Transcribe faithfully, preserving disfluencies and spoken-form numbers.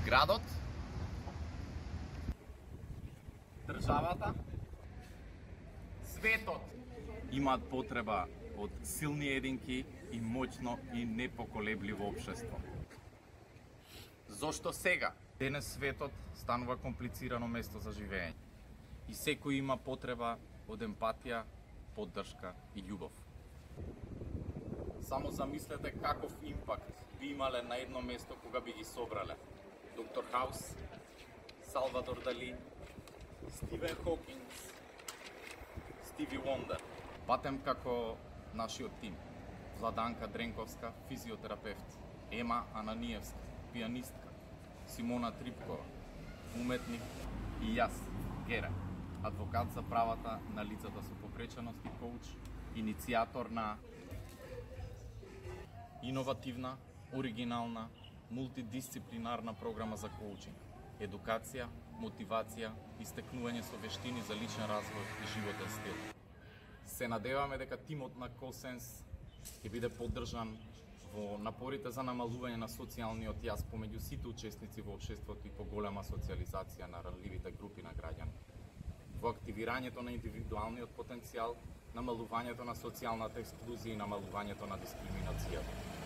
Градот, државата, светот имаат потреба од силни единки и моќно и непоколебливо општество. Зошто сега? Денес светот станува комплицирано место за живење и секој има потреба од емпатија, поддршка и љубов. Само замислете каков импакт би имале на едно место кога би ги собрале Доктор Хаус, Салвадор Дали, Стивен Хокинс, Стиви Вондер. Патем како нашиот тим: Владанка Дренковска, физиотерапевт, Ема Ананиевска, пианистка, Симона Трипкова, уметник, и јас, Гере, адвокат за правата на лицата со попреченост и коуч, иницијатор на иновативна, оригинална, мултидисциплинарна програма за коучинг, едукација, мотивација и стекнување со вештини за личен развој и животен стил. Се надеваме дека тимот на CoSense ќе биде поддржан во напорите за намалување на социјалниот јаз помеѓу сите учесници во општеството и поголема социјализација на ранливите групи на граѓани, во активирањето на индивидуалниот потенцијал, намалувањето на социјалната ексклузија и намалувањето на дискриминацијата.